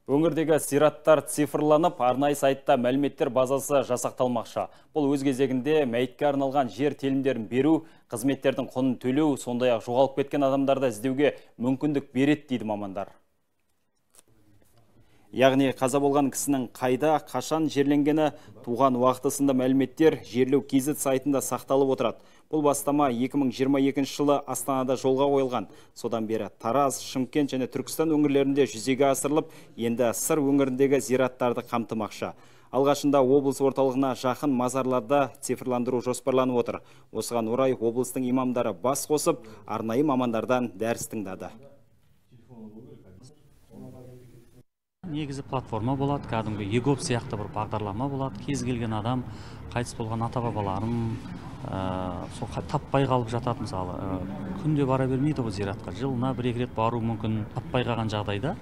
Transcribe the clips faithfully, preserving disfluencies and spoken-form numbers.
Өңірдегі зираттар цифрланып, арнайы сайтта мәліметтер базасы жасақталмақшы. Бұл өз кезегінде мәйітке арналған жер телімдерін беру, қызметтердің құнын төлеу, сондай-ақ жоғалып кеткен адамдарды іздеуге мүмкіндік береді дейді мамандар. Яғни қаза болған кісінің қайда, қашан жерленгені, туған уақыты сынды мәліметтер жерлеу кз сайтында сақталып отырады. Бұл бастама екі мың жиырма екінші жылы Астанада жолға қойылған. Содан бері Тараз, Шымкент және Түркістан өңірлерінде жүзеге асырылып, енді Сыр өңіріндегі зираттарды қамтымақшы. Алғашында облыс орталығына жақын мазарларда цифрландыру жоспарланып отыр. Осыған орай облыстың имамдары бас қосып, арнайы мамандардан дәріс тыңдады. Негізі платформа болады, кәдімгі егоп сияқты бір бағдарлама болады. Кез келген адам қайтыс болған ата-бабаларын сол таппай қалып жатады, мысалы күнде бара бермейді бұл зиратқа. Жылына бір-екі рет бару мүмкін. Таппай қалған жағдайда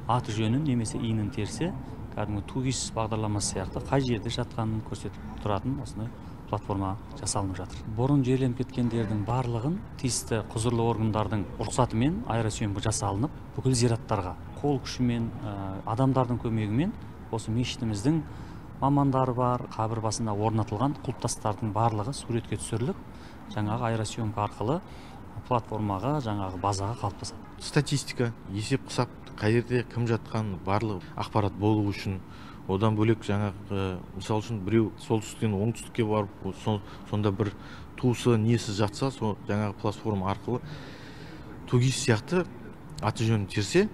аты жөнін немесе иінін терсе, кәдімгі тугис бағдарламасы сияқты қай жерде жатқанын көрсетіп тұратын осындай платформа жасалынып жатыр. Бұрын жерленіп кеткендердің барлығын тиісті құзырлы органдардың рұқсатымен аэросъемка жасалынып, бүкіл зираттарға қол күшімен, адамдардың көмегімен осы мешітіміздің мамандары бар, қабір басында орнатылған құлпытастардың барлығы суретке түсіріліп, жаңағы аэросъемка арқылы платформаға, жаңағы базаға қалыптасады. Статистика, есеп қысап, қай жерде кім жатқан барлық ақпарат болу үшін, одан бөлек жаңағы мысал үшін біреу солтүстіктен оңтүстікке барып, сонда бір туысы несі жатса, сол жаңағы платформа арқылы тугис сияқты аты жөнін терсе,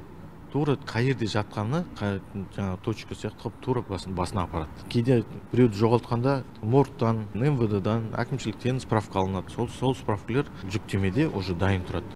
тура қай жерде жатқаны, жаңағы точка сияқты тура басына апарады. Кейде біреуді жоғалтқанда моргтан, эм вэ дэдан, әкімшіліктен справка алынады. Сол справкалар жүктемеде уже дайын тұрады.